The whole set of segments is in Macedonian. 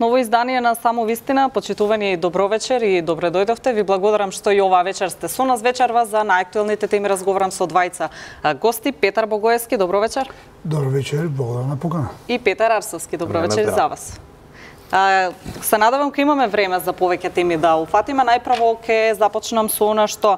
ново издание на Само вистина. Почитувани добро вечер и добре дојдовте. Ви благодарам што и оваа вечер сте со нас вечерва за најактуелните теми. Разговарам со двајца гости. Петар Богоевски, добро вечер. Добро вечер, благодарам на покана. И Петар Арсовски, добро вечер за вас. Се надевам ке имаме време за повеќе теми да уфатиме. Најпрво ке започнам со она што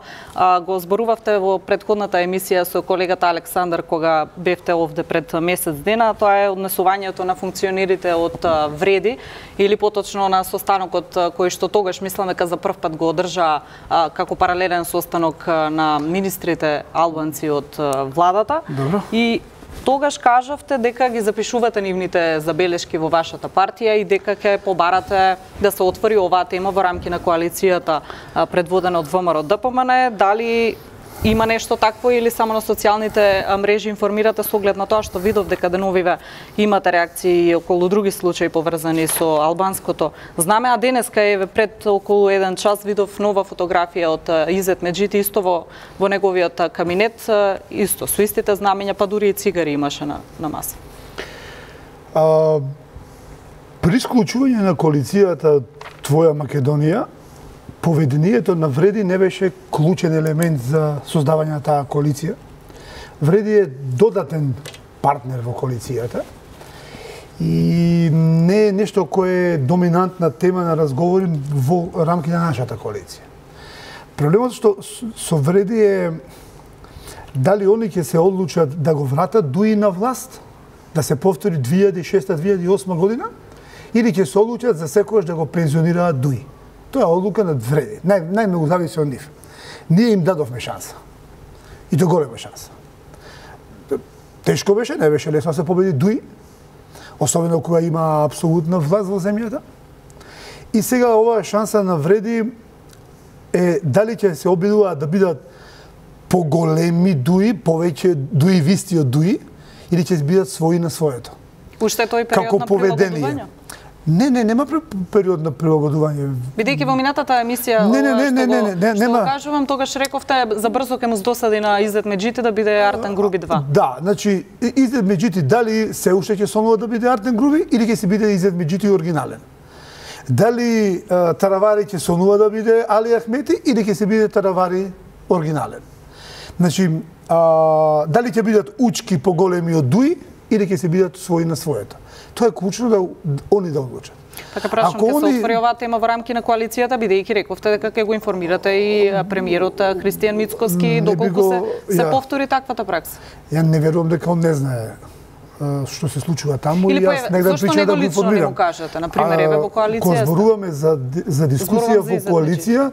го зборувавте во претходната емисија со колегата Александар кога бевте овде пред месец дена. Тоа е однесувањето на функционерите од Вреди или поточно на состанокот кој што тогаш мислам дека за прв пат го одржа како паралелен состанок на министрите албанци од владата. Добро. И тогаш кажавте дека ги запишувате нивните забелешки во вашата партија и дека ќе побарате да се отвори оваа тема во рамки на коалицијата предводена од ВМРО ДПМН. Дали има нешто такво или само на социјалните мрежи информирате со оглед на тоа што видов дека деновиве имате реакции околу други случаи поврзани со албанското знаме, а денеска е пред околу 1 час видов нова фотографија од Изет Меджити исто во неговиот кабинет, исто со истите знамења, па дури и цигари имаше на маса. При исклучување на коалицијата Твоја Македонија, поведението на Вреди не беше клучен елемент за создавање на таа коалиција. Вреди е додатен партнер во коалицијата и не е нешто кое е доминантна тема на разговори во рамки на нашата коалиција. Проблемот што со Вреди е дали они ќе се одлучат да го вратат дуи на власт, да се повтори 2006-2008 година, или ќе се одлучат за секогаш да го пензионираат дуи. Тоа е одлука на Вреди. Најмногу зависи од нив. Ние им дадовме шанса. И то голема шанса. Тешко беше, не беше лесно да се победи дуи, особено кога има апсолутна власт во земјата. И сега оваа шанса на Вреди е дали ќе се обидуваат да бидат поголеми дуи, повеќе дуи висти од дуи, или ќе бидат своји на своето. Уште тој период на прилагодување? Не, нема период на прилагодување. Бидејќи во минатата емисија што кажувам, тогаш рековте за брзо ке му здосади на Изет Меджити да биде Артен Груби 2. Да, значи Изет Меджити дали се уште ќе сонува да биде Артен Груби или ќе се биде Изет Меджити оригинален. Дали Таравари ќе сонува да биде Али Ахмети или ќе се биде Таравари оригинален. Значи дали ќе бидат учки поголеми од дуи или ќе се бидат своји на своето. Тоа е клучно да они да одлучат. Така прашам, ќе се отвори оваа тема во рамки на коалицијата, бидејќи рековте дека ќе го информирате и премиерот Кристијан Мицкоски, доколку се повтори таквата пракса. Ја не верувам дека он не знае што се случува таму и јас негде причина да го информирам. Зошто него лично не го кажете, на пример, еве во коалиција? Кога зборуваме за дискусија во коалиција,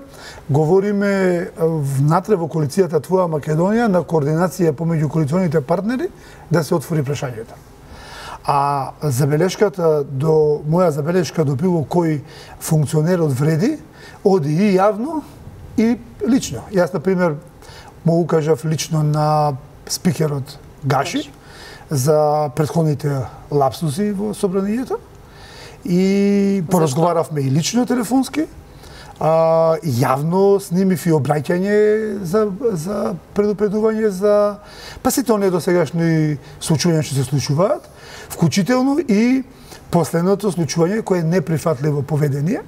говориме внатре во коалицијата Твоја Македонија на координација помеѓу коалиционите партнери да се отвори прашањето. А моја забелешка до било кој функционер од Вреди оди и јавно и лично. Јас, например, му кажав лично на спикерот Гаши за претходните лапсуси во собранието и поразговаравме и лично телефонски. Јавно снимив и обраќање за предупредување за сите оние досегашни случувања што се случуваат, вклучително и последното случување кое е неприфатливо поведение,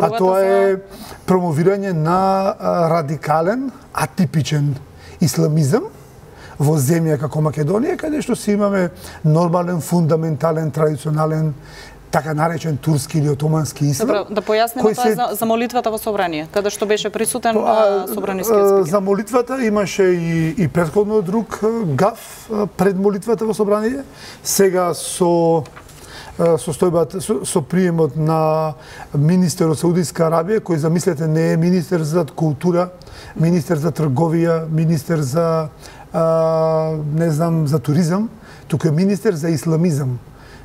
а тоа е промовирање на радикален, атипичен исламизам во земја како Македонија, каде што си имаме нормален, фундаментален, традиционален, така наречен турски или отомански ислам. Добро, да појасниме тоа за молитвата во собрание, каде што беше присутен собранискиот спикер. За молитвата имаше и претходно друг гаф пред молитвата во собрание. Сега со приемот на министер од Саудиска Арабија, кој замислете не е министер за култура, министер за трговија, министер за не знам за туризам, туку е министер за исламизам.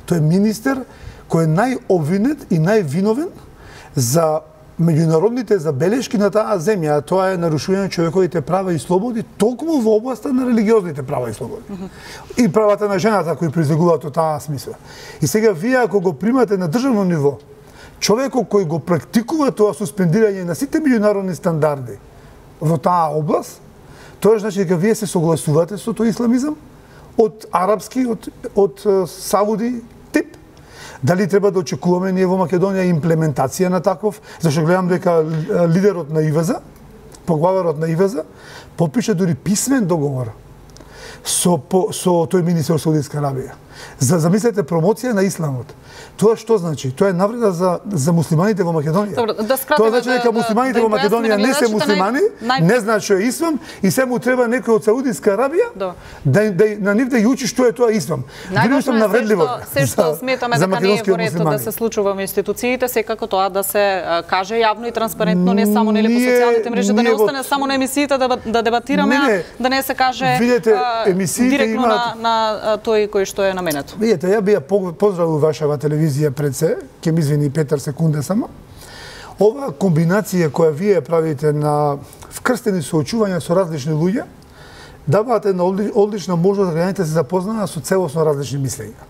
Тој е министер кој е најобвинет и највиновен за меѓународните забелешки на таа земја, тоа е нарушување на човековите права и слободи, токму во областа на религиозните права и слободи. И правата на жената кои произлегуваат од таа смисла. И сега вие ако го примате на државно ниво, човекот кој го практикува тоа суспендирање на сите меѓународни стандарди во таа област, тоа значи дека вие се согласувате со тој исламизам од арапски, од сауди тип, Дали треба да очекуваме ние во Македонија имплементација на таков, зашто гледам дека лидерот на ИВЗ, поглаварот на ИВЗ, подпише дури писмен договор со тој министер Саудитска Арабија. Замислете промоција на исламот. Тоа што значи? Тоа е навреда за муслиманите во Македонија. Добро, Тоа значи дека муслиманите во Македонија не се муслимани, не знаат што е ислам и се му треба некој од Саудитска Арабија на нив да ја учи што е тоа ислам. Најважно е се што сметаме дека не е во ред да се случува во институциите, секако тоа да се каже јавно и транспарентно, не само нели по социјалните мрежи, да не остане само на емисиите да дебатираме, да не се каже директно на тој кој што е наменето. Видете, ја би ја поздравил вашава телевизија пред се, ќе ми извини Петар секунде само. Ова комбинација која вие правите на вкрстени соочувања со различни луѓе, давате една одлична можност да граѓаните се запознаат со целосно различни мислења.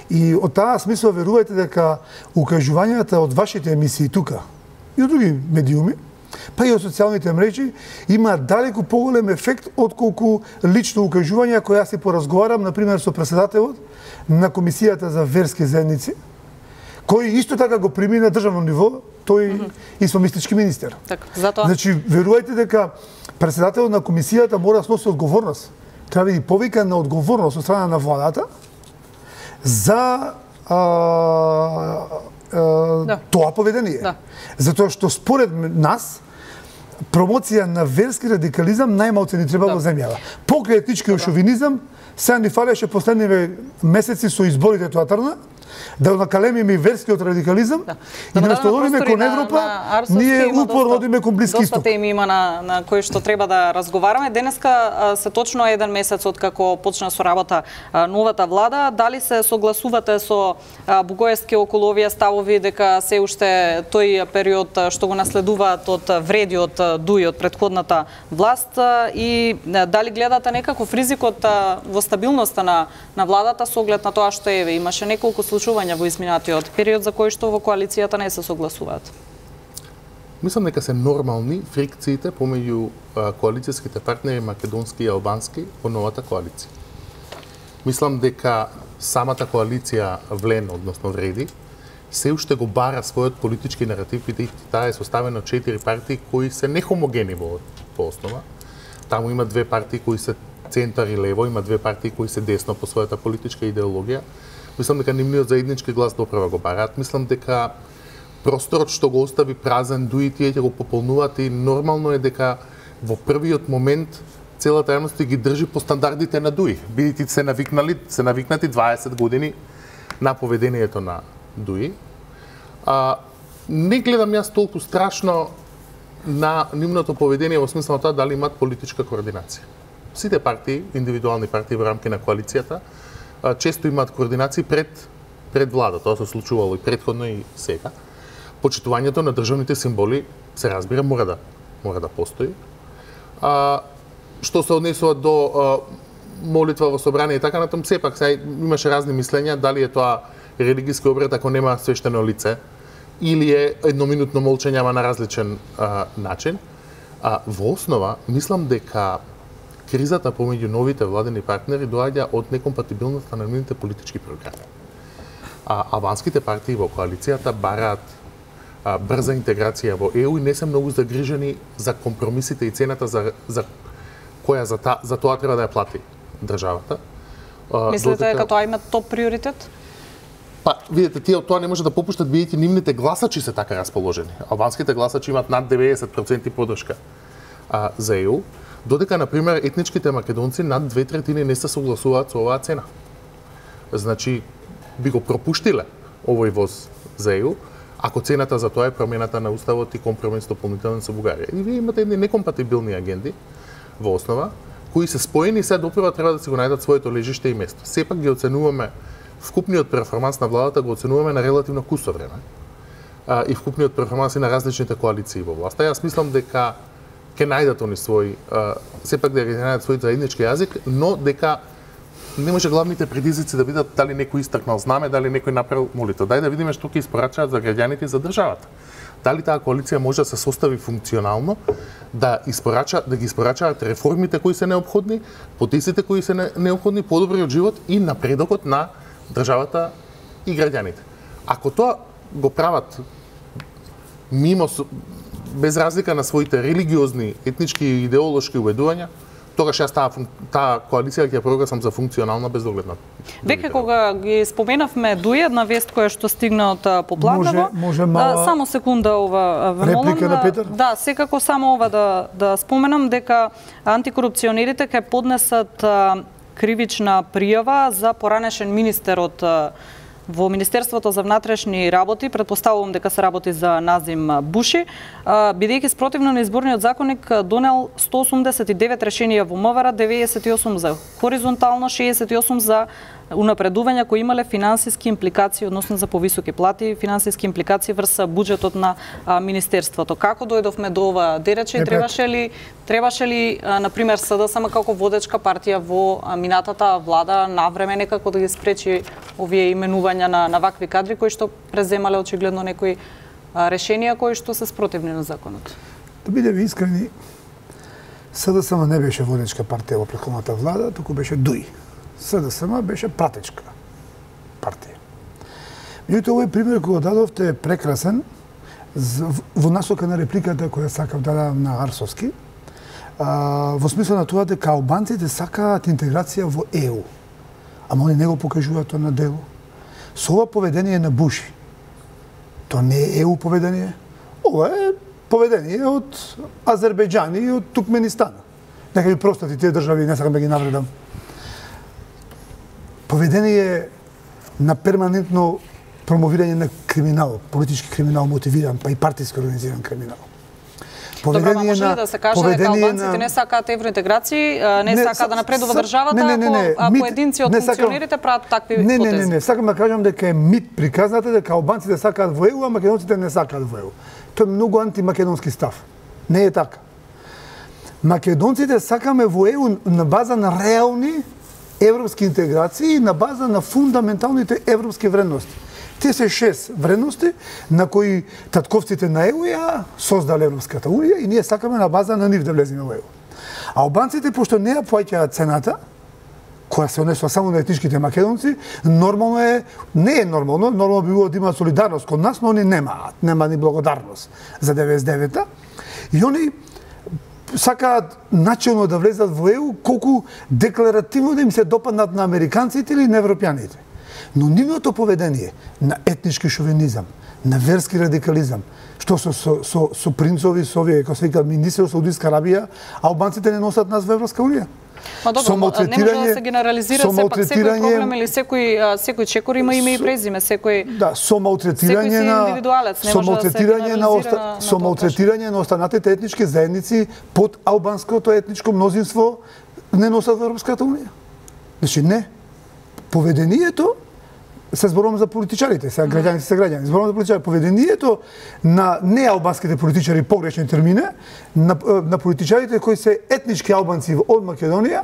И од таа смисла верувајте дека укажувањата од вашите емисии тука и од други медиуми, па и од социјалните мрежи, има далеку поголем ефект отколку лично укажување која си поразговарам, например, со председателот на Комисијата за верски заедници, кој исто така го прими на државно ниво, тој исламистички министер. Така, затоа. Значи, верувајте дека председателот на комисијата мора да сноси одговорност. Треба да биде повикан на одговорност од страна на владата за тоа поведение. Затоа што според нас промоција на верски радикализам најмалку ни треба во земјава. Покрај етничкиот шовинизам, сега ни фалеше последниве месеци со изборите тоа трна, да накалемиме и верскиот радикализам и да настоиме кон Европа, ние упорно одиме кон Блиски Исток. Доста теми има на кои што треба да разговараме. Денеска се точно еден месец од како почна со работа новата влада. Дали се согласувате со Бугоевски околу овие ставови дека се уште тој период што го наследуваат од вредиот дуј од претходната власт и дали гледате некаков ризик од во стабилноста на владата со оглед на тоа што имаше неколку случувања во изминатиот период за кои што во коалицијата не се согласуваат? Мислам дека се нормални фрикциите помеѓу коалицијските партнери македонски и албански во новата коалиција. Мислам дека самата коалиција ВЛЕН, односно Вреди, се уште го бара својот политички наратив, бидејќи таа е составена од 4 партии кои се нехомогени во основа. Таму има 2 партии кои се центар и лево, има 2 партии кои се десно по својата политичка идеологија. Мислам дека нивниот заеднички глас доправа го бараат. Мислам дека просторот што го остави празен дуи тие ќе го пополнуваат и нормално е дека во првиот момент целата јавност ги држи по стандардите на дуи. Бидејќи се навикнати 20 години на поведението на дуи. Не гледам јас толку страшно на нивното поведение во смисла на тоа дали имаат политичка координација. Сите партии, индивидуални партии во рамки на коалицијата, често имаат координации пред влада. Тоа се случувало и претходно и сега. Почитувањето на државните символи се разбира мора да постои. Што се однесува до молитва во собрание и така натаму, сепак имаше разни мислења дали е тоа религиски обред ако нема свештено лице или е едноминутно молчење ама на различен начин. Во основа мислам дека кризата помеѓу новите владени партнери доаѓа од некомпатибилноста на нивните политички програми. Албанските партии во коалицијата бараат брза интеграција во ЕУ и не се многу загрижени за компромисите и цената за која за тоа треба да ја плати државата. Мислите дека тоа има топ приоритет? Па, видите, тие од тоа не може да попуштат бидејќи нивните гласачи се така расположени. Албанските гласачи имаат над 90% поддршка за ЕУ. Додека, например, етничките македонци над 2/3 не се согласуваат со оваа цена. Значи, би го пропуштиле овој воз за ЕУ, ако цената за тоа е промената на уставот и компромис дополнителен со Бугарија. И вие имате едни некомпатибилни агенди во основа, кои се споени и се допрева треба да си го најдат своето лежиште и место. Сепак ги оценуваме, вкупниот перформанс на владата го оценуваме на релативно кусо време. И вкупниот перформанс и на различните коалиции во власта. Јас мислам дека ќе најдат они свој, сепак да ги најдат свој заеднички јазик, но дека не може главните предизвици да бидат дали некој истакнал знаме, дали некој направил молитва. Дај да видиме што ќе испорачаат за граѓаните и за државата. Дали таа коалиција може да се состави функционално, да ги испорачаат реформите кои се неопходни, потесите кои се неопходни, подобриот живот и напредокот на државата и граѓаните. Ако тоа го прават мимо, без разлика на своите религиозни, етнички и идеолошки убедувања, тогаш јас таа коалиција ќе прогласам за функционална без доглед на. Веќе кога ги споменавме дуј една вест која што стигна од Попладново. Може мала само секунда ова ве молам. Реплика на Петар? Да, секако само ова да споменам дека антикорупционерите ќе поднесат кривична пријава за поранешен министер од во Министерството за внатрешни работи, претпоставувам дека се работи за Назим Буши, бидејќи спротивно на изборниот законник донел 189 решенија во МВР, 98 за хоризонтално, 68 за унапредувања кои имале финансиски импликации, односно за повисоки плати, финансиски импликации врз буџетот на Министерството. Како дојдовме до ова дерече и требаше ли на пример СДСМ како водечка партија во минатата влада навреме некако да ги спречи овие именувања на вакви кадри кои што преземале очигледно некои решенија кои што се спротивни на законот? Да бидеме искрени, СДСМ не беше водечка партија во претходната влада, туку беше ДУИ. СДСМ беше пратечка партија. Меѓутоа, овој пример кој го дадовте е прекрасен во насока на репликата која сакав да дадам на Арсовски, во смисла на тоа дека албанците сакаат интеграција во ЕУ. Ама они не го покажуваат тоа на дело. Со ова поведение на Буши, тоа не е ЕУ поведение, ова е поведение од Азербејџан и од Туркменистан. Нека ми простати тие држави, не сакам да ги навредам. Поведение на перманентно промовирање на криминал, политички криминал мотивиран, па и партиски организиран криминал. Добро, може ли да се каже дека албанците не сакаат евроинтеграција, не сакаат да напредува државата, а поединци од функционерите прават такви потези? Не, сакам да кажам дека е мит приказната дека албанците сакаат во ЕУ, а македонците не сакаат во ЕУ. Тоа е многу антимакедонски став. Не е така. Македонците сакаме во ЕУ на база на реални европски интеграции, на база на фундаменталните европски вредности. Те се 6 вредности на кои татковците на ЕУ ја создале Европската унија и ние сакаме на база на нив да влеземе во ЕУ. Албанците, пошто не ја плаќаат цената, која се однесува само на етничките македонци, нормално е, не е нормално би било да има солидарност кон нас, но они немаат, нема ни благодарност за 99-та. И они сакаат начелно да влезат во ЕУ, колку декларативно да им се допаднат на американците или на европјаните. Но нивното поведение на етнички шовинизам, на верски радикализам, што со принцови, со овие, како се вика, министри од Саудитска Арабија, албанците не носат нас во Европска унија. Ма добро, не може да се генерализира сепак секој проблем или секој чекор има име и презиме, секој. Да, со малтретирање на останатите етнички заедници под албанското етничко мнозинство не носат во Европската унија. Значи не. Поведението се зборувам за политичарите, сега граѓаните се граѓани, зборувам за политичарите. Поведението на неалбанските политичари, погрешен термин, на политичарите кои се етнички албанци од Македонија,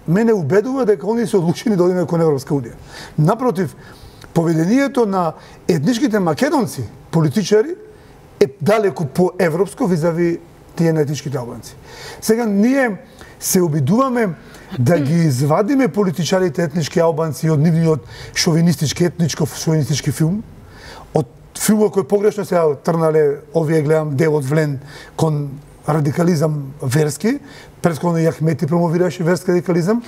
мене убедува дека они се одлучени да одиме кон Европска унија. Напротив, поведението на етничките македонци политичари е далеку по-европско визави тие на етничките албанци. Сега ние се обидуваме да ги извадиме политичарите етнички албанци од нивниот шовинистички, етничко-шовинистички филм, од филмот кој погрешно се трнале, овие гледам делот влен кон радикализам верски, претходно и Ахмети промовираше верски радикализам,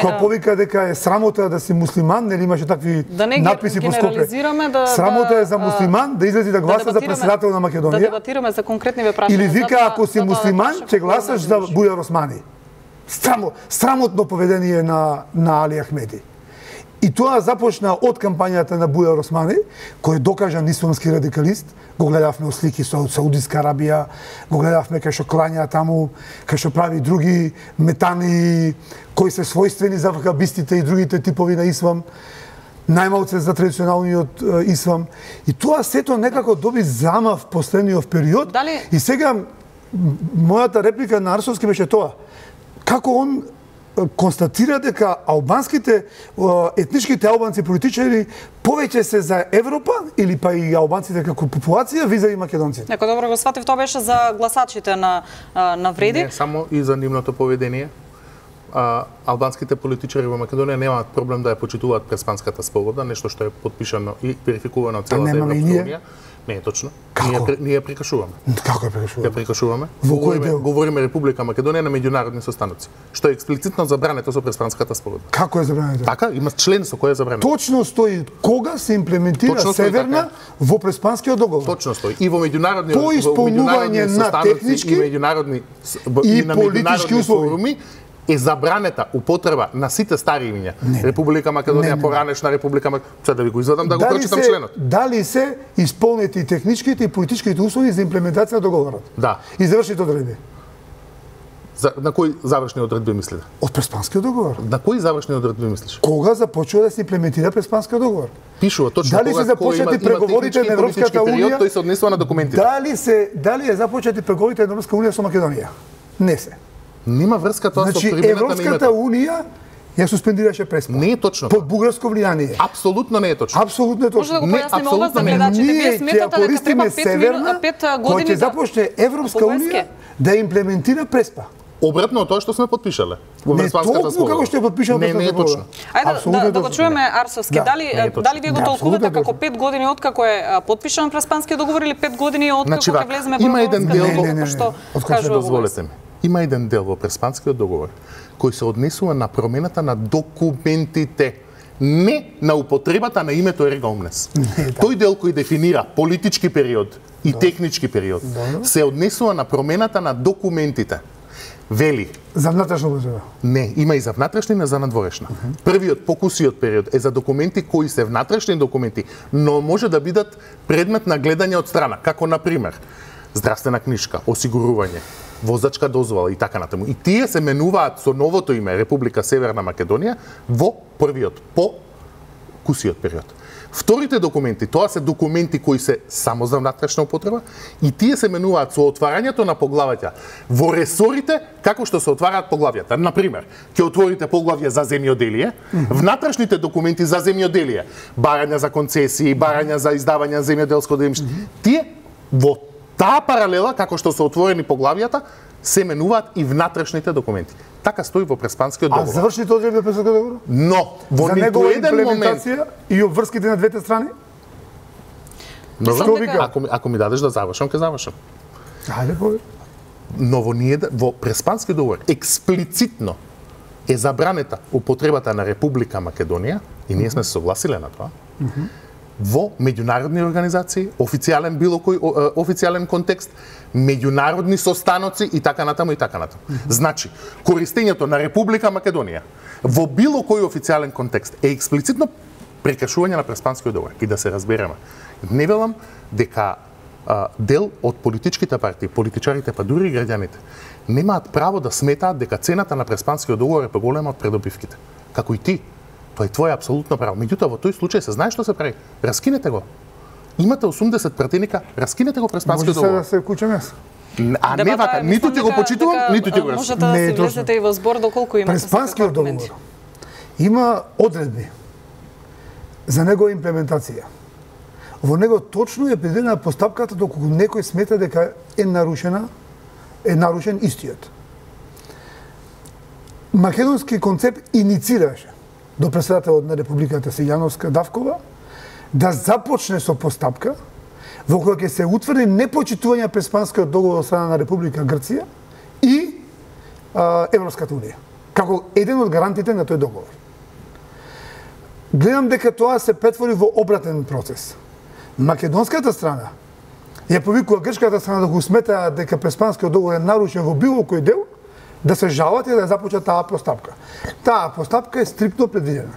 кога повика дека е срамота да си муслиман, нели имаше такви надписи по Скопје. Срамота е за муслиман да излези да гласа за председател на Македонија. Да дебатираме за конкретни прашања. Или вика ако си муслиман, ќе гласаш за Бујар Османи. Срамотно поведение на Али Ахмети. И тоа започна од кампањата на Бујар Османи, кој е докажан исламски радикалист. Го гледавме слики со Саудитска Арабија, го гледавме кај што клања таму, кај што прави други метани кои се својствени за вахабистите и другите типови на ислам, најмалце за традиционалниот ислам. И тоа сето некако доби замав последниот период. И сега мојата реплика на Арсовски беше тоа. Како он констатира дека албанските, етничките албанци политичари повеќе се за Европа или па и албанците како популација визави македонците. Неко добро го сватив, тоа беше за гласачите на Вреди. Не само и за нивното поведение. албанските политичари во Македонија немаат проблем да ја почитуваат Преспанската спогодба, нешто што е подпишано и верификувано од целата Европска унија. Не е точно. Ние ја прекашуваме. Како ја прекашуваме? Ја прекашуваме. Во кој дел? Говориме Република Македонија на меѓународни состаноци, што е експлицитно забрането со Преспанската спогодба. Како е забрането? Така, има член со кој е забрането. Точно стои кога се имплементира Северна во Преспанскиот договор. Точно стои. И во меѓународни по исполнување на технички и меѓународни и политички услови е забранета употреба на сите стари имиња. Република Македонија, поранешна Република Македонија. Сега да ви го извадам да го прочитам членот. Дали се исполнети техничките и политичките услови за имплементација на договорот? Да. И завршните одредби. На кои завршни одредби мислите? Од Преспанскиот договор. На кои завршни одредби мислиш? Кога започува да се имплементира Преспанскиот договор? Пишува точно дали кога се започнати преговорите на Европската унија? Тој се однесува на документите. Дали е започнати преговорите на Европската унија со Македонија? Не се. Нема врска тоа со примената на името. Европската унија ја суспендираше Преспа. Не е точно. Под бугарско влијание. Апсолутно не е точно. Апсолутно е точно. Може да го појасниме ова за гледачите. Вие сметате дека треба 5 години да започне Европска унија да имплементира Преспа. Обратно од тоа што сме подпишале во Преспанската спогодба. Како што е подпишано не е точно. Ајде да го чуеме Арсовски. Дали вие го толкувате како 5 години откако е подпишан Преспанскиот договор или 5 години откако ќе влеземе во Европска што кажува дозволете ми. Има еден дел во Преспанскиот договор кој се однесува на промената на документите, не на употребата на името Ерга Омнес. Тој дел кој дефинира политички период и технички период се однесува на промената на документите. Вели. За внатрешна употреба? Не, има и за внатрешна и за надворешна. Првиот, покусиот период е за документи кои се внатрешни документи, но може да бидат предмет на гледање од страна, како на пример здравствена книжка, осигурување, возачка дозвола и така натаму. И тие се менуваат со новото име Република Северна Македонија во првиот, по кусиот период. Вторите документи, тоа се документи кои се само за внатрешна употреба и тие се менуваат со отварањето на поглавјата во ресорите како што се отвараат поглавјата. Например, ќе отворите поглавје за земјоделие, внатрешните документи за земјоделие, барања за концесии, барања за издавање на земјоделско земјиште, тие во таа паралела, како што се отворени поглавјата, се менуваат и внатрешните документи. Така стои во Преспанскиот договор. А завршните одредби во Преспанскиот договор? Но, во ниту еден момент... и обврските на двете страни? Ако ми дадеш да завршам, ќе завршам. Ајде, повеќе. Но во Преспанскиот договор експлицитно е забранета употребата на Република Македонија, и ние сме се согласиле на тоа, во меѓународни организации, официјален било кој официјален контекст, меѓународни состаноци и така натаму и така натаму. Значи, користењето на Република Македонија во било кој официјален контекст е експлицитно прекашување на Преспанскиот договор. И да се разбереме, не велам дека дел од политичките партии, политичарите, па дури и граѓаните, немаат право да сметаат дека цената на Преспанскиот договор е поголема од придобивките. Како и ти. Тоа е твое апсолутно право. Меѓутоа, во тој случај се знае што се прави. Раскинете го. Имате 80 пратеника, раскинете го Преспанскиот договор. Може се вклучам јас. А не вака, ниту ти го почитувам, ниту ти го раскинам. Можете да се влезете и во збор доколку имате Преспанскиот договор има одредби за негова имплементација. Во него точно е предвидена постапката доколку некој смета дека е нарушен истиот. Македонски концепт иницираше до председателот на Републиката Сијановска Давкова да започне со постапка во која ќе се утврди непочитување на Преспанскиот договор од страна на Република Грција и Европската унија, како еден од гарантите на тој договор. Гледам дека тоа се претвори во обратен процес. Македонската страна ја повикува грчката страна да го смета дека Преспанскиот договор е нарушен во било кој дел, да се жалат и да започне таа постапка. Таа постапка е стриктно предвидена.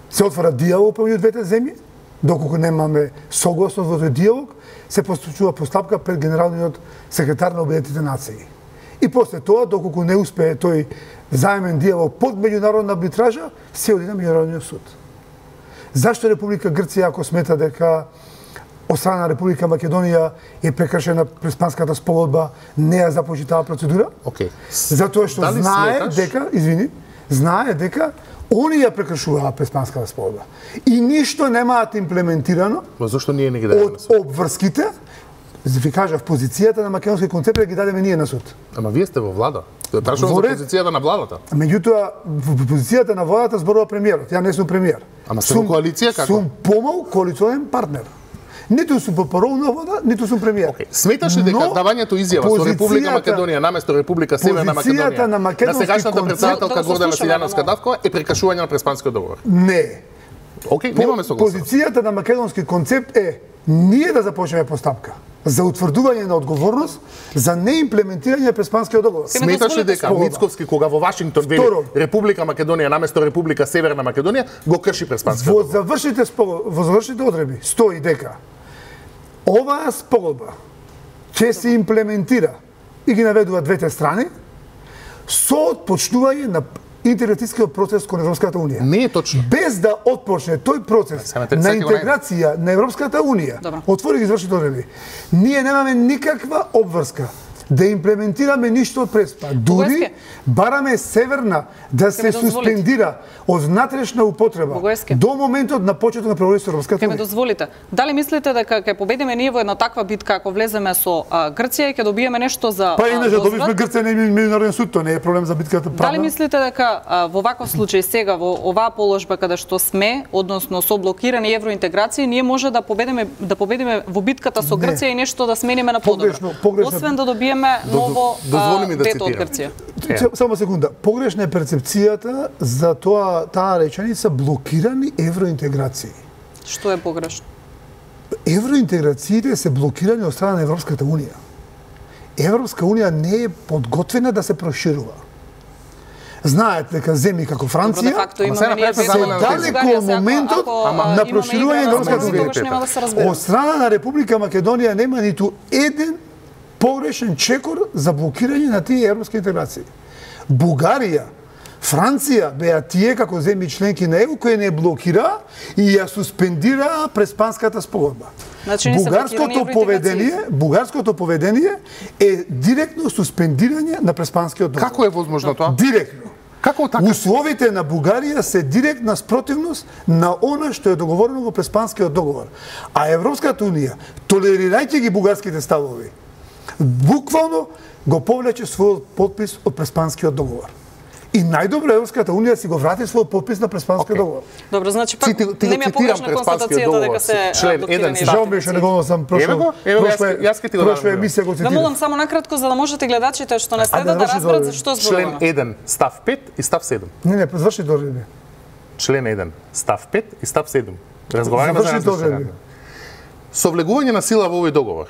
Се отвара диалог помеѓу двете земји, доколку немаме согласност во тој диалог, се постапува постапка пред генералниот секретар на Обединетите нации. И после тоа, доколку не успее тој заемен диалог под меѓународна арбитража, се оди на меѓународниот суд. Зашто Република Грција, ако смета дека од страна на Република Македонија е прекршена Преспанската спогодба, не ја започна таа процедура? Затоа што знае дека они ја прекршуваа Преспанската спогодба. И ништо немаат имплементирано зашто ние не ги даваме од обврските Ви кажав, позицијата на македонски концепт ги дадеме ние на суд. Ама вие сте во влада. Прашувам за позицијата на владата. Меѓутоа, во позицијата на владата зборува премиерот. Ја не сум премиер. Ама сте во коалиција како? Сум помал коалиционен партнер. Ниту сум по паролна влада, ниту сум премиер. Okay. Сметаш ли дека давањето изјава со Република Македонија наместо Република Северна Македонија на сегашната председателка Гордана Силјановска Давкова е прекашување на Преспанскиот договор? Не. Океј, немаме согласност. Позицијата на македонски концепт е ние да започнеме постапка за утврдување на одговорност за неимплементирање на Преспанскиот договор. Сметаш ли дека Мицковски кога во Вашингтон вели Република Македонија наместо Република Северна Македонија го крши Преспанскиот договор? Во завршите одредби стои дека оваа спогодба ќе се имплементира и ги наведува двете страни со отпочнување на интегратискиот процес кон Европската Унија. Не е точно. Без да отпочне тој процес на интеграција на Европската Унија, отвори ги извршите одредби. Ние немаме никаква обврска да имплементираме ништо од Преспа. Дури бараме Северна да се суспендира од внатрешна употреба до моментот на почеток на преговорите со Европската Унија. Ке ме дозволите. Дали мислите дека ќе победиме ние во една таква битка ако влеземе со Грција и ќе добиеме нешто за Па иначе добивме Грција на меѓународен суд, тоа не е проблем за битката правна. Дали мислите дека во ваков случај сега во оваа положба каде што сме, односно со блокирани евроинтеграција, ние може да победиме во битката со Грција и нешто да смениме на подобро? Освен да добиеме ново вето од Грција. Само секунда. Погрешна е перцепцијата за таа реченица блокирани евроинтеграции. Што е погрешно? Евроинтеграциите се блокирани од страна на Европската Унија. Европска Унија не е подготвена да се проширува. Знаете дека земји како Франција се далеко од моментот на проширување на Европската Унија. Од страна на Република Македонија нема ниту еден погрешен чекор за блокирање на тие европски интеграции. Бугарија, Франција беа тие како земји членки на ЕУ кои не блокира и ја суспендира Преспанската спогодба. Бугарското поведение е директно суспендирање на Преспанскиот договор. Како е возможно тоа? Директно. Како така? Условите на Бугарија се директна спротивност на она што е договорено во Преспанскиот договор. А Европската Унија, толерирајќи ги бугарските ставови, буквално го повлече својот подпис од Преспанскиот договор. И најдобро Европската Унија си го врати својот подпис на Преспанскиот договор. Добро, значи пак не ми е погрешна констатацијата дека се член 1 Жал ми што не го сам прошла емисија го цитирам. Да молам само накратко за да можете гледачите што не следат да разберат за што зборуваме. Член 1 став 5 и став 7. Не, заврши одредби. Член 1 став 5 и став 7. Разговараме за одредби. Со влегување на сила во овој договор,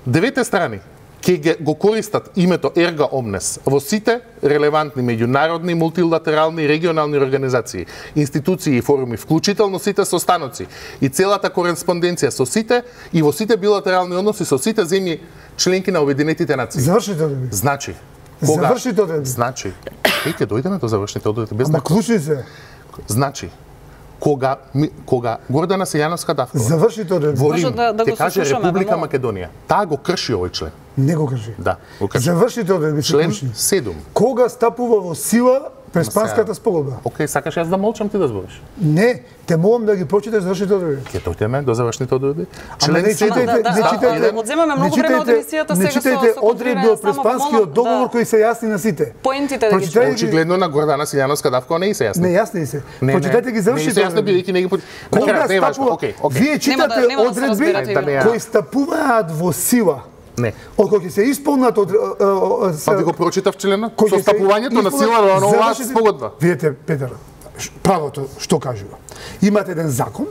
девете страни ќе го користат името Ерга Омнес во сите релевантни меѓународни, мултилатерални и регионални организации, институции и форуми, вклучително сите состаноци и целата кореспонденција со сите и во сите билатерални односи со сите земји членки на Обединетите нации. Завршите одредби. Значи, завршите одредби. Значи, ќе дојдеме до завршните одредби без Ама клучни се. Значи, кога Гордана Силјановска Давкова завршите одредби. Во Рим ќе каже Република Македонија, таа го крши овој член. Не го крши. Да, го крши. Завршите одредби. Член 7. Кога стапува во сила Преспанската спогодба? Океј, сакаш јас да молчам, ти да збориш? Не, те молам да ги прочиташ завршните одредби. Ќе дојдеме до завршните одредби. Член 7. Одземаме многу време од емисијата сега со читајте одредби од Преспанскиот договор кои се јасни на сите. Поентите да ги читате. Очигледно на Гордана Силјановска Давкова не се јасни. Не јасни се. Прочитајте ги завршите одредби. Бидејќи не ги Вие читате одредби кои стапуваат во сила. Не. Кога ќе се исполнат Па ви го прочитав членот со стапувањето на сила на оваа спогодба. Видете, Петар, правото што кажува. Имате еден закон,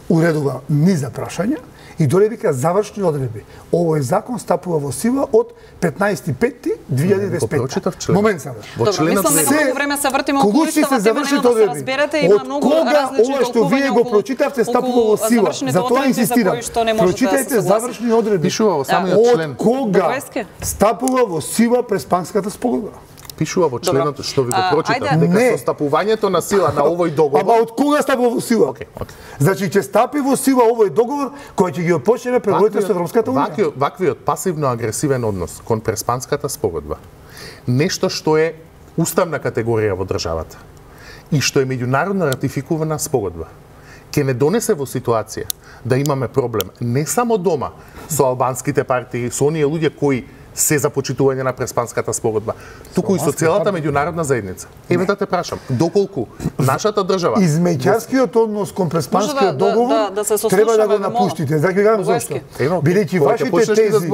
уредува низ за прашања и доле вика завршни одредби. Овој закон стапува во сила од 15.5.2025. Момент сега. Во членот се многу време се вртиме околу устава, тема нема да се разберете, има многу различни ова што вие го прочитавте стапува во сила. Затоа инсистирам. Прочитајте завршни одредби. Пишува во самиот член. Од кога стапува во сила Преспанската спогодба? Пишува во членот што ви го прочитав, дека со стапувањето на сила на овој договор. Ама од кога стапува во сила? Значи ќе стапи во сила овој договор кој ќе ги отпочнеме преговорите со Европската Унија. Ваквиот пасивно-агресивен однос кон Преспанската спогодба, нешто што е уставна категорија во државата и што е меѓународно ратификувана спогодба, ќе не донесе во ситуација да имаме проблем не само дома со албанските партии, со оние луѓе кои се за почитување на Преспанската спогодба, туку и со целата меѓународна заедница. Еве да те прашам, доколку нашата држава измеѓарскиот однос кон Преспанскиот договор треба да го напуштите. Зак ви кажам зашто. Бидејќи вашите тези,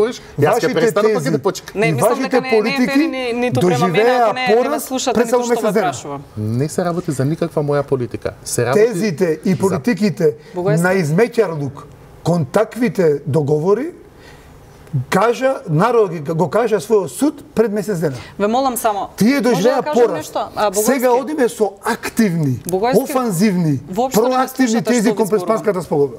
вашите политики доживеа пораз пред само месец дена. Не се работи за никаква моја политика. Се работи тезите и политиките на измеќарлук кон таквите договори народ го кажа својот суд пред месец дена. Ве молам само. Тие доживеа пораст. Сега одиме со активни, офанзивни, проактивни тези кон Преспанската спогодба.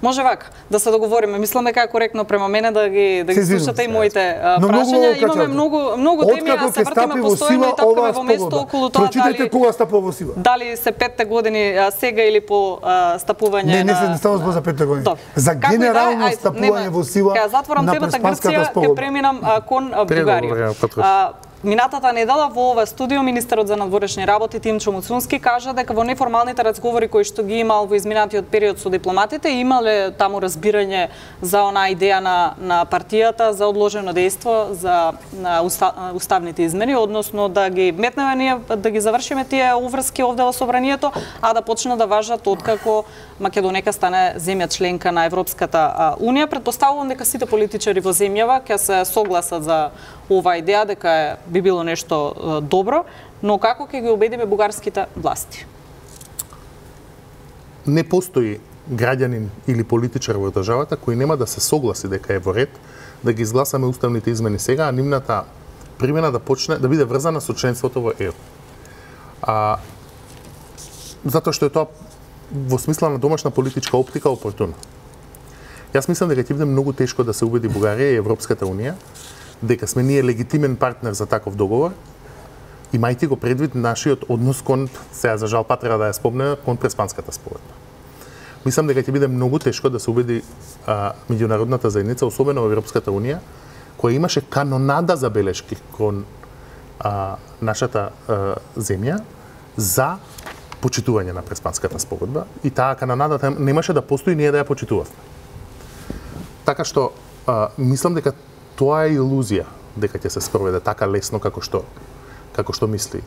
Може вака, да се договориме. Мислам дека е коректно према мене да ги слушате и моите прашања. Имаме многу теми, а се вртиме постојано и тапкаме во место околу тоа дали кога стапува во сила. Дали се 5 години сега или по стапување на Не става збор за 5 години. За генерално стапување во сила на Преспанската спогодба. Ќе преминам кон Бугарија. Минатата недела во ова студио министерот за надворешни работи Тимчо Муцунски кажа дека во неформалните разговори кои што ги имал во изминатиот период со дипломатите имале таму разбирање за онаа идеја на партијата за одложено дејство за уставните измени, односно да ги метнеме ние, да ги завршиме тие уврски овде во собранието, а да почнат да важат откако Македонија стане земја членка на Европската унија. Претпоставувам дека сите политичари во земјава ќе се согласат за оваа идеја дека би било нешто добро, но како ќе ги убедиме бугарските власти? Не постои граѓанин или политичар во државата кој нема да се согласи дека е во ред да ги изгласаме уставните измени сега, а нивната примена да почне да биде врзана со членството во ЕУ. Затоа што е тоа во смисла на домашна политичка оптика опортуно. Јас мислам дека ќе биде многу тешко да се убеди Бугарија и Европската унија дека сме ние легитимен партнер за таков договор, имајќи го предвид нашиот однос кон, сега за жал па треба да ја спомнеме, кон Преспанската спогодба. Мислам дека ќе биде многу тешко да се убеди меѓународната заедница, особено во Европската унија, која имаше канонада забелешки кон нашата земја за почитување на Преспанската спогодба и таа канонада немаше да постои ние да ја почитувавме. Така што мислам дека тоа е илузија дека ќе се спроведе така лесно како што мисли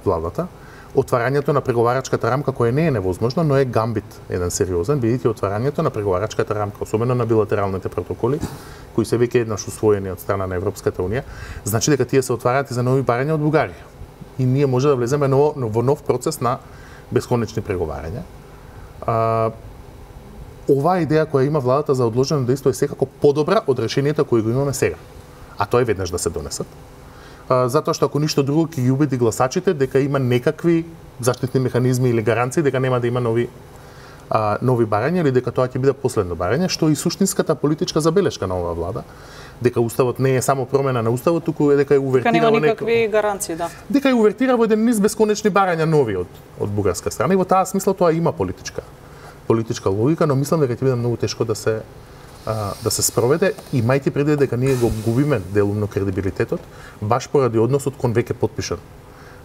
владата. Отварањето на преговарачката рамка која не е невозможно, но е гамбит еден сериозен, бидејќи отварањето на преговарачката рамка, особено на билатералните протоколи, кои се веќе еднаш усвоени од страна на Европската унија, значи дека тие се отвараат и за нови барања од Бугарија. И ние може да влеземе во нов процес на бесконечни преговарања. Оваа идеја која има владата за одложено дејство е секако подобра од решението кои го имаме сега. А тоа е веднаш да се донесат. Затоа што ако ништо друго ќе ги убеди гласачите дека има некакви заштитни механизми или гаранции дека нема да има нови барања или дека тоа ќе биде последно барање, што и суштинската политичка забелешка на оваа влада, дека уставот не е само промена на уставот, туку е дека е увертира нема никакви гаранции, да. Дека е увертира во еден низ бесконечни барања нови од бугарска страна и во таа смисла тоа има политичка логика, но мислам дека ќе биде многу тешко да се спроведе, имајќи предвид дека ние го губиме делумно кредибилитетот, баш поради односот кон веќе потпишан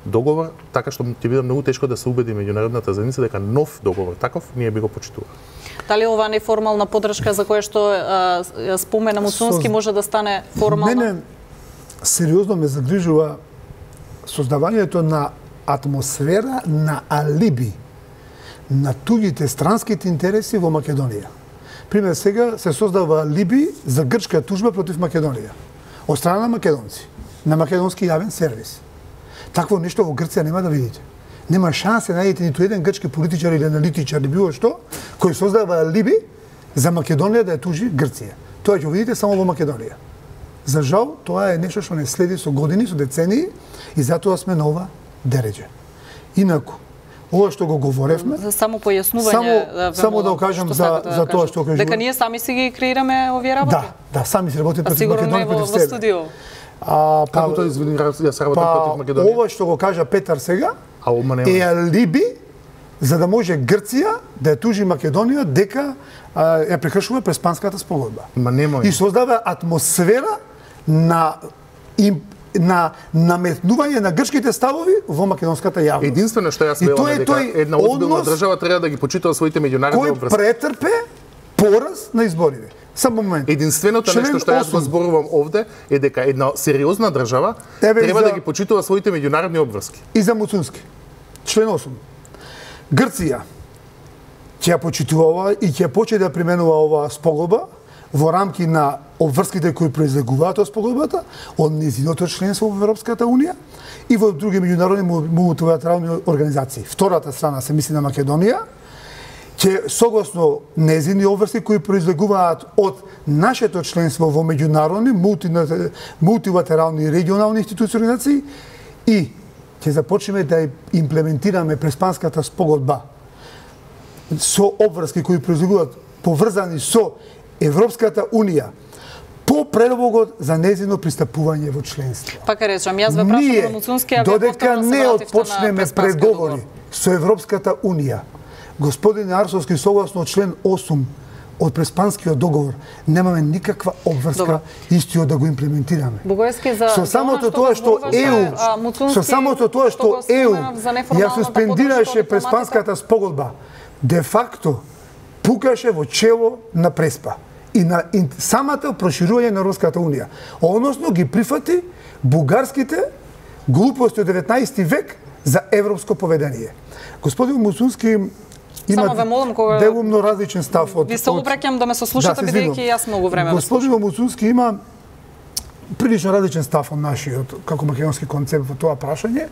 договор, така што ќе биде многу тешко да се убеди меѓународната заедница дека нов договор таков ние би го почитувале. Дали оваа неформална поддршка за која што спомена Муцунски може да стане формална? Мене сериозно ме загрижува создавањето на атмосфера на алиби на туѓите странските интереси во Македонија. Пример, сега се создава алиби за грчка тужба против Македонија од страна на македонци, на македонски јавен сервис. Такво нешто во Грција нема да видите. Нема шансе да најдете ниту еден грчки политичар или аналитичар или било што кој создава алиби за Македонија да ја тужи Грција. Тоа ќе видите само во Македонија. За жал, тоа е нешто што не следи со години, со децении и затоа сме на ова дереđе. Инаку, ова што го говоревме, само појаснување, само да кажам за тоа што кажувам. Дека ние сами си ги креираме овие работи. Да, сами си работиме против Македонија, против себе. Во студио. Како тоа извини, јас работам против Македонија. Ова што го кажа Петар сега е алиби за да може Грција да ја тужи Македонија дека ја прекршува Преспанската спогодба. Ма немој. И создава атмосфера на на наметнување на грчките ставови во македонската јавност. Единствено што јас велам е дека една озбилна држава треба да ги почитува своите меѓународни обврски. Кој претрпе пораз на изборите. Само момент. Единственото нешто што јас го зборувам овде е дека една сериозна држава треба да ги почитува своите меѓународни обврски. И за Муцунски. Член 8. Грција ќе ја почитува ова и ќе почне да применува оваа спогодба во рамки на обврските кои произлегуваат од спогодбата, од нејзиното членство во Европската унија и во други меѓународни мултилатерални организации. Втората страна се мисли на Македонија, ќе согласно нејзини обврски кои произлегуваат од нашето членство во меѓународни мултилатерални и регионални институции организации и ќе започнеме да имплементираме Преспанската спогодба со обврски кои произлегуваат поврзани со Европската унија по предлогот за нејзино пристапување во членство. Пака речам, јас ве прашам за Муцунски, а вие додека не отпочнеме преговори со Европската унија, господин Арсовски, согласно член 8 од Преспанскиот договор, немаме никаква обврска истиот да го имплементираме. Бугајски за со самото тоа што ЕУ, ја суспендираше Преспанската спогодба, де факто пукаше во чело на Преспа и на самата проширување на Европската унија. Односно ги прифати бугарските глупости од 19 век за европско поведение. Господин Муцунски има делумно различен став од... Ви се обраќам да ме сослушате, бидејќи јас многу време господин Муцунски има прилично различен став од нашиот како македонски концепт во тоа прашање.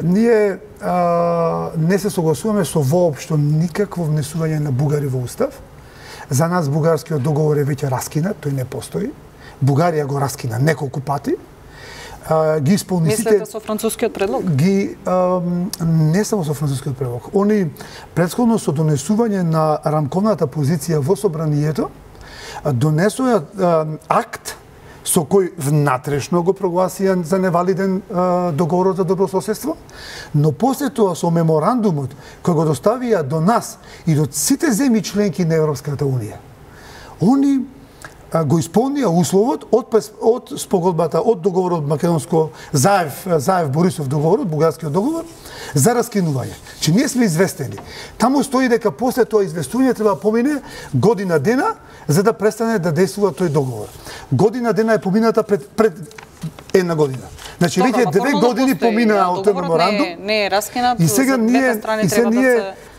Ние не се согласуваме со воопшто никакво внесување на бугари во устав. За нас бугарскиот договор е веќе раскинат, тој не постои. Бугарија го раскина неколку пати. Ги исполни сите... Мислите со францускиот предлог? Не само со францускиот предлог. Они претходно со донесување на рамковната позиција во собранието донесоа акт со кој внатрешно го прогласија за невалиден договорот за добрососедство, но после тоа со меморандумот кој го доставија до нас и до сите земји членки на Европската унија, они го исполнија условот од спогодбата, од договорот македонско Заев Борисов договорот, бугарскиот договор за раскинување. Че ние сме известени. Таму стои дека после тоа известување треба да помине година дена за да престане да действува тој договор. Година дена е помината пред една година. Значи веќе 2 години поминаа од тој меморандум. Не е раскинат. И сега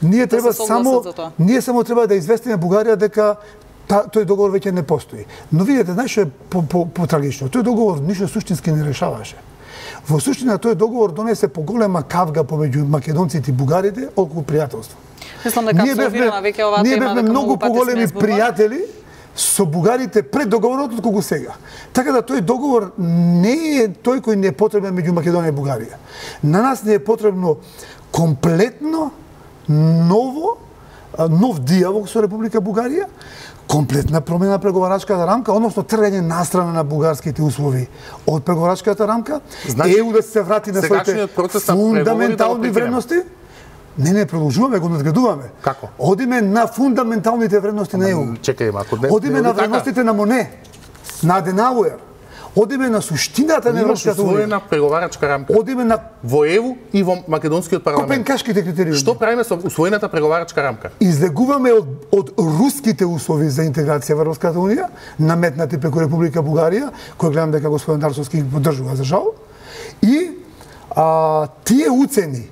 ние треба само треба да известиме Бугарија дека тој договор веќе не постои. Но видите, знаеш што е потрагично? Тој договор ништо суштински не решаваше. Во суштина тој договор донесе поголема кавга помеѓу македонците и бугарите околу пријателство. Мислам дека абсолвирана веќе оваа тема. Ние бевме многу поголеми пријатели со бугарите пред договорот отколку сега. Така да тој договор не е тој кој не е потребен меѓу Македонија и Бугарија. На нас не е потребно комплетно нов диалог со Република Бугарија, комплетна промена на преговарачката рамка, односно тргање настрана на бугарските услови од преговарачката рамка, ЕУ да се врати на своите фундаментални вредности. Не, продолжуваме, го надградуваме. Како? Одиме на фундаменталните вредности на ЕУ. Чекај, ако не... Одиме на вредностите на Моне, на Аденауер. Одиме на суштината на Европската унија. Имаш усвоена преговарачка рамка. Одиме на во ЕУ и во македонскиот парламент. Копенкашките критериуми. Што правиме со усвоената преговарачка рамка? Излегуваме од руските услови за интеграција во Европската унија, наметнати преку Република Бугарија, кој гледам дека господин Дарсовски ги поддржува за жал. И тие уцени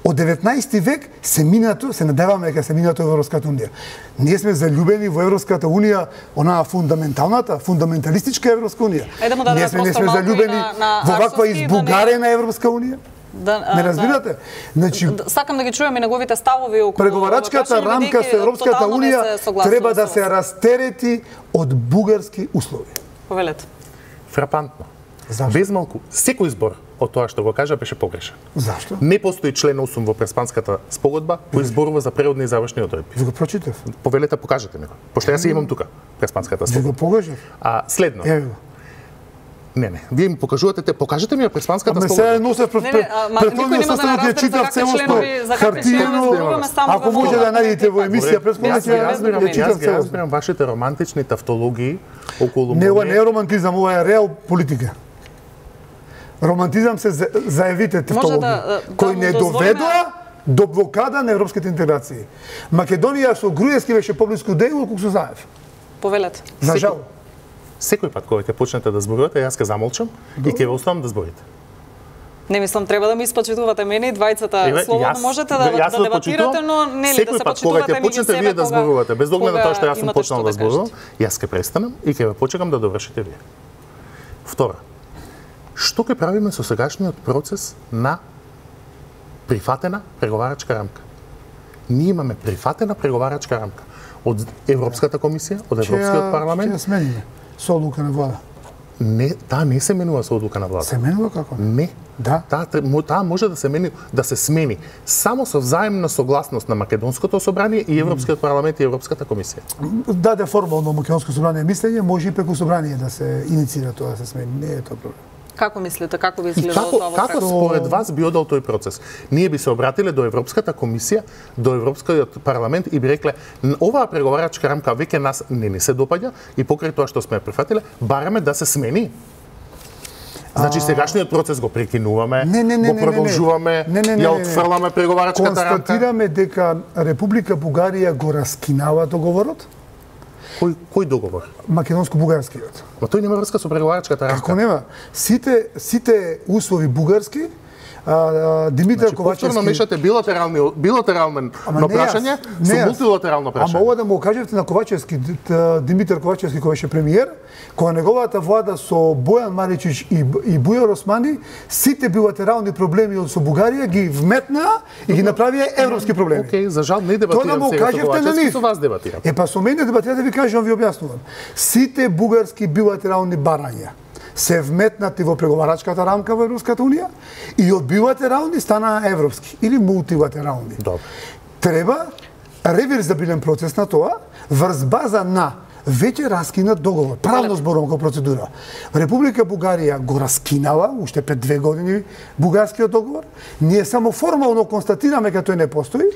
од 19 век се надеваме дека се минато во Европската унија. Ние сме заљубени во Европската унија, онаа фундаменталистичка Европска унија. Ние сме заљубени во ваква избугарена Европска унија. Не разбирате? Значи, сакам да ги чуем и неговите ставови околу преговарачката рамка со Европската унија треба да се растерети од бугарски услови. Повелете. Фрапантно. Без малку, секој избор од тоа што го кажа беше погрешен. Зашто? Не постои член 8 во Преспанската спогодба кој зборува за преводни и завршни одредби. Ви го прочитав. Повелете, покажете ми го. Пошто јас имам тука Преспанската спогодба. Ви го покажав. Следно. Не, вие ми покажете ми ја Преспанската спогодба. Ме се носев претходниот состанок ја читав целосно хартиено. Ако може да најдете во емисија предходната ја читав целосно. Јас разбирам вашите романтични тавтологии околу Не, ова не е романтизам, ова е реал политика. Романтизам се заевите тавтологија, кој не доведоа до блокада на европските интеграции. Македонија со Груевски беше поблиску до ЕУ колку со Заев. Повелете. За жал. Секој пат кога ќе почнете да зборувате, јас ќе замолчам и ќе ве оставам да зборите. Не мислам треба да ми испочитувате мене и двајцата. Слободно можете да дебатирате, но нели да се почитувате кога ќе почнете вие да зборувате, без оглед на тоа што јас сум почнал да зборувам, јас ќе престанам и ќе ве почекам да довршите вие. Втора. Што ќе правиме со сегашниот процес на прифатена преговарачка рамка? Ние имаме прифатена преговарачка рамка од Европската комисија, од Европскиот парламент. Ќе смениме со одлука на влада. Не, таа не се менува со одлука на влада. Се менува како? Не. Да. Таа може да се смени само со взаимна согласност на Македонското собрание и Европскиот парламент и Европската комисија. Даде формално Македонско собрание мислење, може и преку собрание да се иницира тоа да се смени. Не е тоа проблем. Како мислите, како би изгледало тоа во Како според вас би одел тој процес? Ние би се обратиле до Европската комисија, до Европскиот парламент и би рекле оваа преговарачка рамка веќе нас не се допаѓа и покрај тоа што сме прифатиле, бараме да се смени. Значи сегашниот процес го прекинуваме, го продолжуваме, ја отфрламе преговарачката рамка. Констатираме дека Република Бугарија го раскинава договорот. Кој договор? Македонско-бугарскиот. Ма тој нема врска со преговарачката рамка. Како нема? Сите услови бугарски, Димитар Ковачевски... Повторно мешате билатерално прашање со мултилатерално прашање. Ама ова да му кажете на Ковачевски, Димитар Ковачевски кој беше премиер, кога неговата влада со Бојан Маричич и Бујар Османи, сите билатерални проблеми со Бугарија ги вметнаа и ги направија европски проблеми. Океј, за жал не дебатирам сега со Ковачевски, со вас дебатирам. Па со мене дебатирате, ви кажувам, ви објаснувам. Сите бугарски билатерални барања се вметнати во преговарачката рамка во Европската унија и од билатерални станаа европски или мултилатерални. Добро. Треба реверзабилен процес на тоа врз база на веќе раскинат договор. Правно зборувам како процедура. Република Бугарија го раскинала уште пред 2 години бугарскиот договор. Ние само формално констатираме дека тој не постои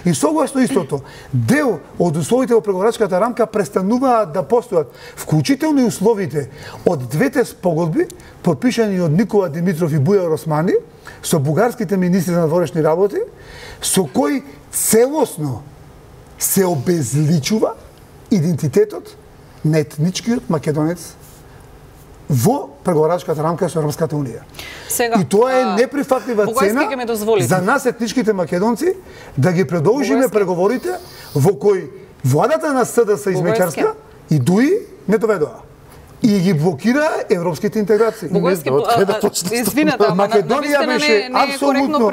и согласно истото дел од условите во преговарачката рамка престануваат да постојат, вклучително и условите од двете спогодби подпишани од Никола Димитров и Бујар Османи со бугарските министри на надворешни работи, со кои целосно се обезличува идентитетот на етничкиот македонец во преговарачката рамка со Европската унија. И тоа е неприфатлива цена за нас етничките македонци да ги продолжиме преговорите во кои владата на СДС измечарска и ДУИ не доведоа. И ги блокира европските интеграции. Извинете, Македонија беше апсолутно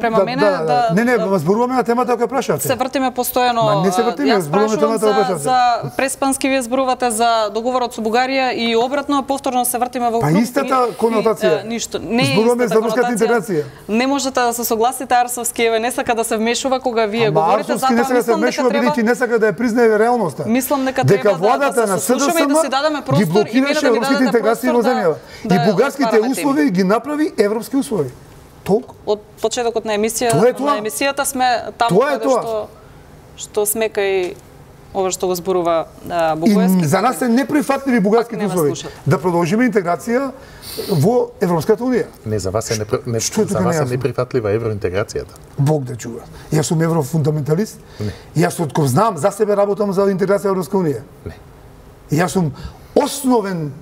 према мене да Не, зборуваме на темата која прашате. Се вртиме постојано. Не се вртиме, зборуваме темата која прашате. За преспански вие зборувате за договорот со Бугарија и обратно повторно се вртиме во круг. Па истата конотација. Ништо. Не зборуваме за руската интеграција. Не можете да се согласите, Арсовски еве не сака да се вмешува кога вие говорите, затоа не сака да се вмешува бидејќи не сака да ја признае реалноста. Мислам дека треба да се слушаме и да си дадеме простор блокираше европските интеграции во земјава. И бугарските услови ги направи европски услови. Толку. Од почетокот на емисијата сме таму каде што сме кај ова што го зборува Бугајски. И за нас се неприфатливи бугарските услови. Да продолжиме интеграција во Европската унија. Не, за вас е неприфатлива евроинтеграцијата. Бог да чува. Јас сум еврофундаменталист. Јас откога знам за себе работам за интеграција во Европска унија. Не. Јас сум основен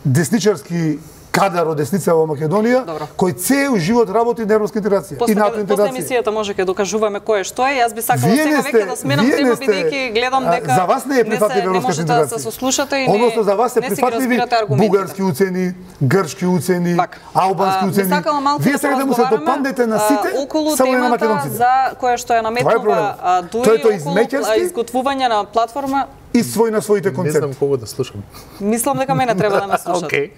десничарски кадар од десница во Македонија, кој цел живот работи на европска интеграција и НАТО интеграција. После емисијата може ќе докажуваме кој е што е. Јас би сакала сега веќе да сменам тема бидејќи гледам дека за вас не е прифатлива европска интеграција. Да се сослушате и односно за вас се прифатливи бугарски уцени, грчки уцени, албански уцени. Вие сега да му се допандете на сите само на македонците. За која што е наметнува дуи изготвување на платформа и свој на своите концепти. Не знам кого да слушам. Мислам дека мене треба да ме слушате.